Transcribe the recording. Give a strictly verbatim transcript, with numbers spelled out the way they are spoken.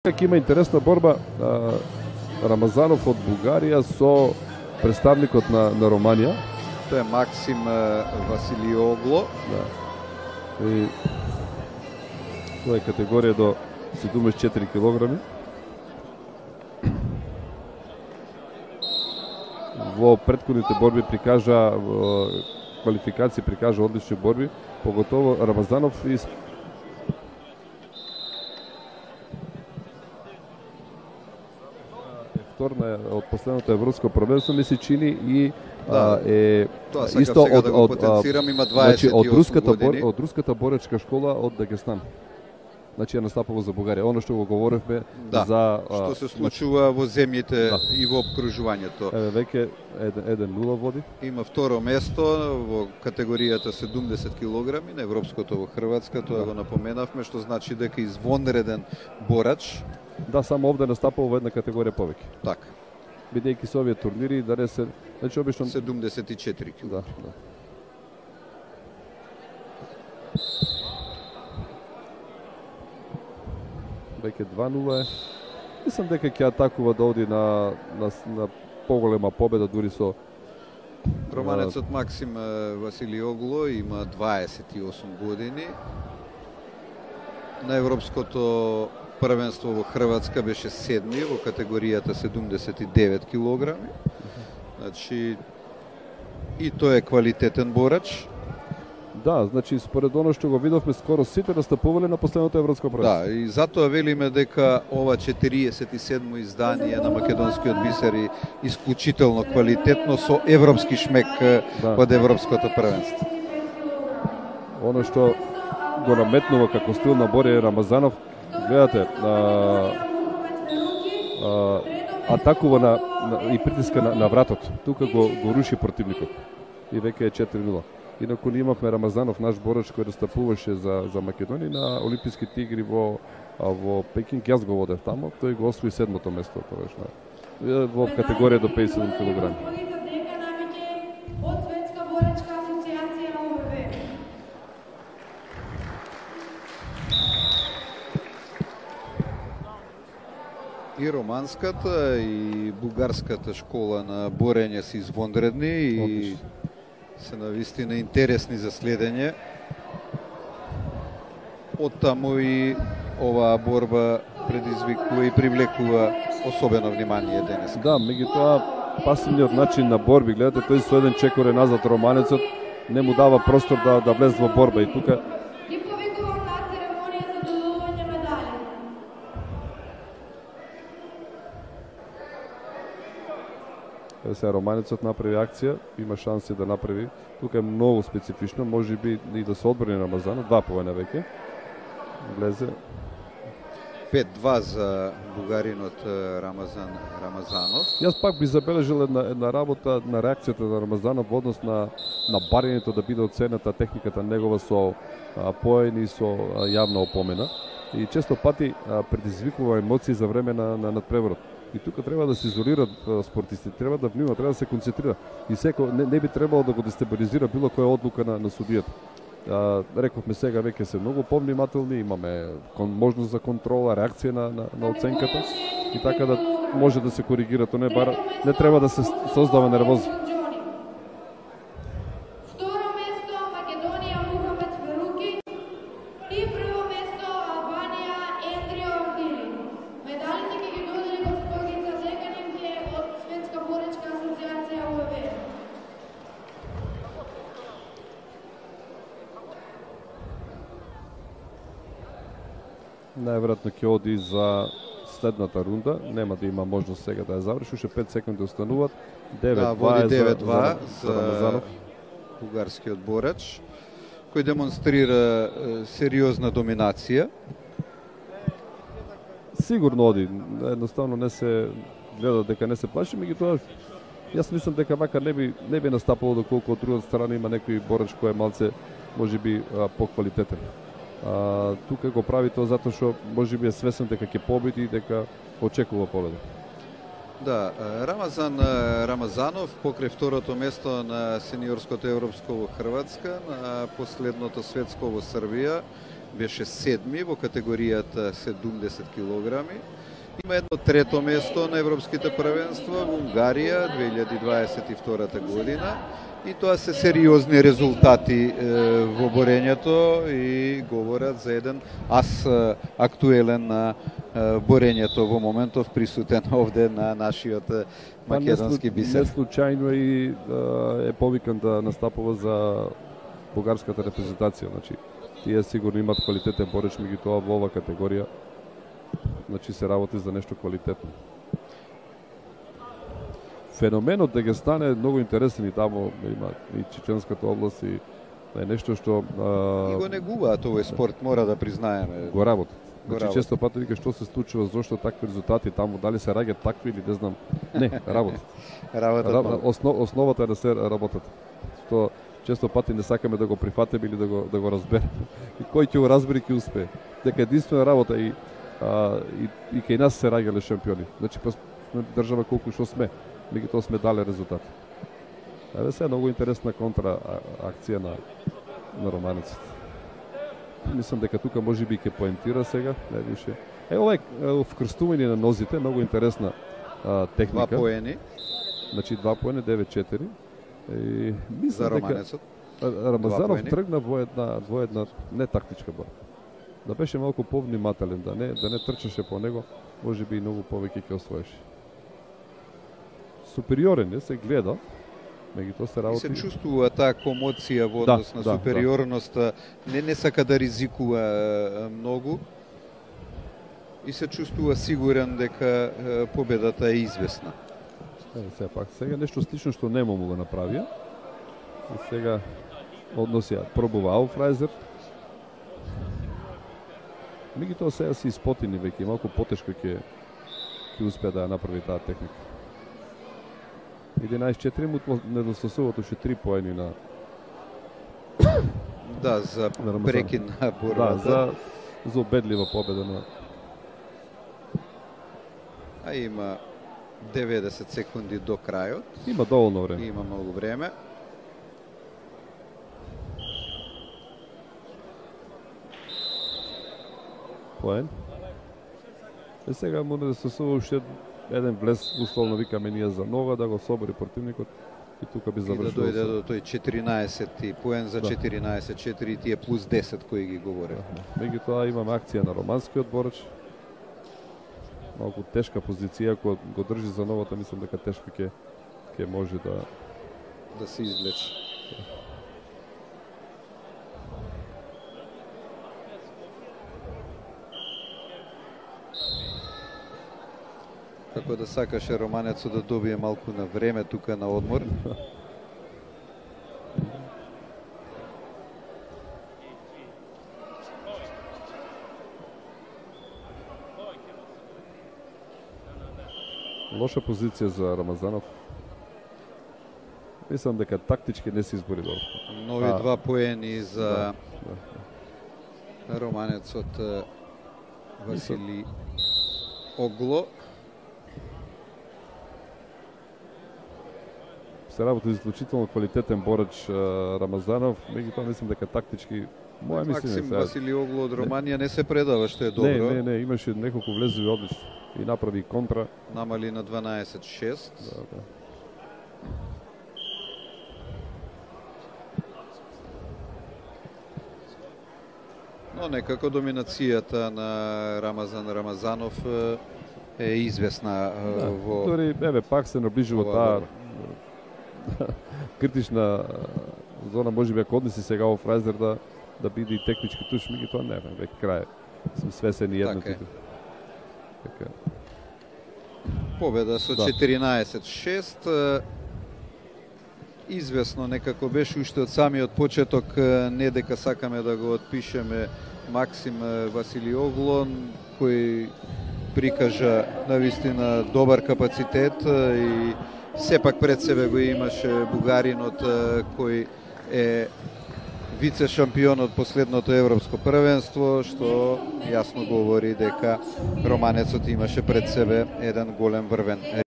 Како има интересна борба, а, Рамазанов од Бугарија со представникот на, на Романија. Тоа е Максим Василиогло. Да. И тоа е категорија до седумдесет и четири килограми. Во претходните борби прикажа, во квалификации прикажа одлични борби, поготово Рамазанов и вторна од последното европско првенство ми се чини и да, а, е тоа сакам исто сега од, да го од, потенцирам, има значи, дваесет и од осум руската години. бор, од руската боречка школа од Дагестан. Значи е настапало за Бугарија. Оно што го говоревме да, за што се случува во земјите да. и во обкружувањето. Еве веќе еден нула води. Има второ место во категоријата седумдесет килограми на европското во Хрватска, тоа да. го напоменавме, што значи дека извонреден борач. Да, само овде настапува во една категорија повеќе. Така. Бидејќи со овие турнири да не се, значи обично седумдесет и четири килограми. Да, да. Веќе два нула е. Мислам дека ќе атакува да оди на, на, на поголема победа, дури со Романецот Максим Василиогло има дваесет и осум години. На европското првенство во Хрватска беше седми во категоријата седумдесет и девет килограми. Значи и тој е квалитетен борач. Да, значи според оно што го видовме, скоро сите настапувале на последното европско првенство. Да, и затоа велиме дека ова четириесет и седмо издание на македонскиот бисер е исклучително квалитетно со европски шмек да. од европското првенство. Оно што го наметнува како стил на борење Рамазанов, гледате, а, а, атакува на, на, и притиска на, на вратот. Тука го, го руши противникот. И веќе е четири нула. Инаку ние имавме Рамазанов, наш борач кој настапуваше за, за Македонија на Олимписките игри во, во Пекинг. Јас го водев тамо, тој го освои седмото место тогаш во категорија до пеесет и седум килограми. И романската и бугарската школа на борење се извонредни и Отлично. се навистина интересни за следење. Оттаму и оваа борба предизвикува и привлекува особено внимание денес. Да, меѓутоа пасивниот начин на борби, гледате, тој со еден чекор е назад Романецот, не му дава простор да, да влезе во борба и тука Еве сега Романецот направи акција, има шанси да направи. Тука е многу специфично, можеби и да се одбрани Рамазанов, два повеќе веќе. Влезе пет два за бугаринот Рамазан Рамазанов. Јас пак би забележал една, една работа на реакцијата на Рамазанов во однос на на барењето да биде оценета техниката негова со а, поени со а, јавна опомена и често пати а, предизвикува емоции за време на на надпреворот. И тука треба да се изолираат спортистите, треба да внимава, треба да се концентрира. И секој не, не би требало да го дестабилизира било која одлука на, на судијата. А, рековме сега веќе се многу повнимателни, имаме кон, можност за контрола, реакција на, на, на оценката и така да може да се коригира, то не бара, не треба да се создава нервоза. Најверојатно ќе оди за следната рунда, нема да има можност сега да ја заврши, уште пет секунди остануваат. девет два да, за, за, за Рамазанов, бугарскиот борач, кој демонстрира е, сериозна доминација. Сигурно оди, едноставно не се гледа дека не се плаши, меѓутоа јас мислам дека вака не би не би настапало доколку од другата страна има некој борач кој е малце можеби поквалитетен. А, тука го прави тоа затоа што можеби е свесен дека ќе победи и дека очекува победа. Да, Рамазан Рамазанов покрај второто место на сениорското европско во Хрватска, на последното светско во Србија, беше седми во категоријата седумдесет килограми. Има едно трето место на европските првенства во Унгарија две илјади дваесет и втората година. И тоа се сериозни резултати е, во борењето и говорат за еден ас е, актуелен на е, борењето во моментов, присутен овде на нашиот македонски бисер. Не случајно и е повикан да настапува за бугарската репрезентација. Значи, тие сигурно имат квалитетен бореч, меѓутоа во ова категорија значи се работи за нешто квалитетно. Феноменот да ги стане многу интересен и таму има и Чеченската област и е нешто што а... и го негуваат овој спорт, мора да признаеме. Го работат. Значи често пати вика што се случува, зошто такви резултати таму, дали се раѓаат такви или не знам. Не, работат. работат. Раб... Основ, основата е да се работат. Што често пати не сакаме да го прифатиме или да го да го разбереме. И кој ќе го разбере ќе успее. Дека единствена работа и а, и, и кај нас се раѓале шампиони. Значи па држава колку што сме. Меѓутоа сме дали резултати. Еве се многу интересна контра акција на на романецот. Мислам дека тука можеби ќе поентира сега, не више. Е ова е вкрстување на нозите, многу интересна а, техника. Два поени. Значи два поени девет четири. И мислам за романецот. Дека Рамазанов тргна во една во една не тактичка борба. Да беше малку повнимателен, да не да не трчаше по него, можеби и многу повеќе ќе освоеше. Супериорен е, се гледа, меѓутоа се работи. И се чувствува таа комоција во однос да, на да, супериорноста, да. не не сака да ризикува многу и се чувствува сигурен дека победата е известна. Еве се пак сега нешто слично што нема му го направија. И сега односија пробува Ауфрайзер. Меѓутоа сега се испотини веќе, малку потешко ќе ќе успее да ја направи таа техника. единаесет четири му недостасуваат уште три поени на да за прекин на борбата. Да, за за убедлива победа на. А има деветдесет секунди до крајот. Има доволно време. Има многу време. Поен. Е сега му недостасува уште еден влез, условно викаме ние за нога, да го собори противникот и тука би завршил. И да дојде до тој четиринаесет поен за четиринаесет четири, тие плюс десет кои ги говоре. Да. Меѓутоа имаме акција на романскиот бореч. Малку тешка позиција, ако го држи за новата, мислам дека тешко ќе ќе може да да се извлече. Како да сакаше романецот да добие малку на време тука на одмор. Лоша позиција за Рамазанов. Мислам дека тактички не се избори добро. Нови а, два поени за да, да. романецот Васили Огло. Се работи исклучително квалитетен бореч Рамазанов, меѓутоа мислам дека тактички моја мислење Максим Васили Огло од Романија не се предава, што е добро. Не, не, не, имаше неколку влезови одлично и направи контра. Намали на дванаесет шест. Да, да. Но некако доминацијата на Рамазан Рамазанов е известна да, во... Дори, еве, пак се наближува таа критична зона, може би ако однеси сега во Фрайзер да да биде и технички туш, меѓутоа не, веќе крај. Сме свесени едно. Така. Така. Победа со да. четиринаесет шест. Известно некако беше уште од самиот почеток, не дека сакаме да го отпишеме Максим Васили Огло, кој прикажа навистина добар капацитет и сепак пред себе го имаше бугаринот кој е вице шампион од последното европско првенство, што јасно говори дека романецот имаше пред себе еден голем врвен